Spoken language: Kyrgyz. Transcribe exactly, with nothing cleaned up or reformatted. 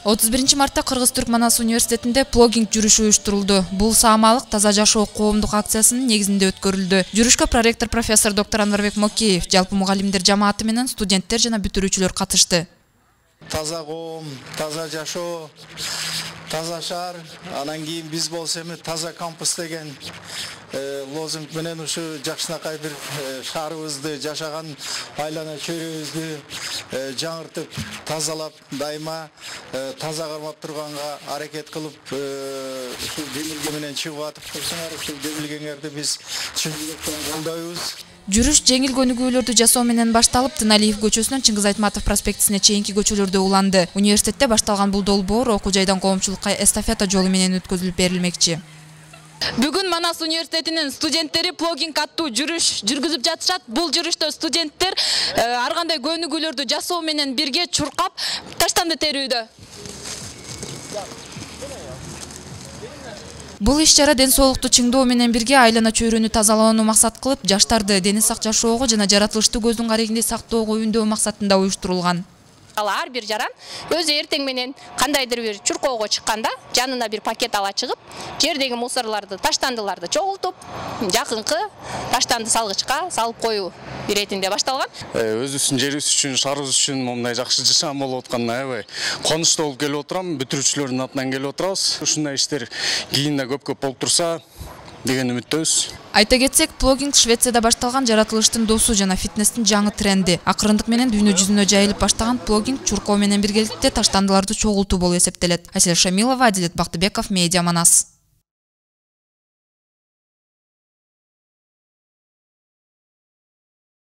отуз биринчи мартта Кыргыз-Түрк Манас университетинде плогинг жүрүшү уюштурулду. Бул саамалык таза жашоо коомдук акциясынын негизинде өткөрүлдү. Жүрүшкө проректор профессор доктор Анварбек Мокеев, жалпы мугалимдер жамааты менен студенттер жана бүтүрүүчүлөр катышты. Таза коом, таза жашоо, таза шаар, анан кийин биз болсо эми таза кампус деген лозунг менен ушу жакшынакай бир шаарыбызды, жашаган айлана чөйрөбүздү жаңыртып, тазалап, дайыма таза кармап турганга аракет кылып, ушул демилге менен чыгып атып турсуңар, ушул демилгеңерди биз чын жүрөктөн колдойбуз. Жүрүш жеңил көнүгүүлөрдү жасоо менен башталып, Тыналиев көчөсүнөн Чыңгыз Айтматов проспектисине чейинки көчөлөрдө уланды. Университетте башталган бул долбоор окуу жайдан коомчулукка эстафета жолу менен өткөзүлүп берилмекчи. Бүгүн Манас университетинин студенттери плогинг аттуу жүрүш жүргүзүп жатышат. Бул жүрүштө студенттер ар кандай көнүгүүлөрдү жасоо менен бирге чуркап таштанды терүүдө. Бул иш-чара ден соолукту чыңдоо менен бирге айлана чөйрөнү тазалоону максат кылып, жаштарды дени сак жашоого жана жаратылышты көздүн карегинде сактоого үндөө максатында уюштурулган. Ар бир жаран өзү эртең менен кандайдыр бир чуркоого чыкканда жанына бир пакет ала чыгып, жердеги мусорлорду, таштандыларды чогултуп, жакынкы таштанды салгычка салып коюу иретинде башталган. Өзүбүздүн жерибиз үчүн, шаарыбыз үчүн момундай жакшы жашам болуп атканына аябай конучтуу болуп келип отурам. Бүтүрүүчүлөрдүн атынан келип отурабыз. Ушундай иштер кийин да көп-көп болуп турса деген үмүттөбүз. Айта кетсек, плогинг Швецияда башталган жаратылыштын досу жана фитнестин жаңы тренди. Акырындык менен дүйнө жүзүнө жайылып баштаган плогинг чуркоо менен биргеликте таштандыларды чогултуу болуп эсептелет. Асель Шамилова, Адилет Бактыбеков, Медиа Манас.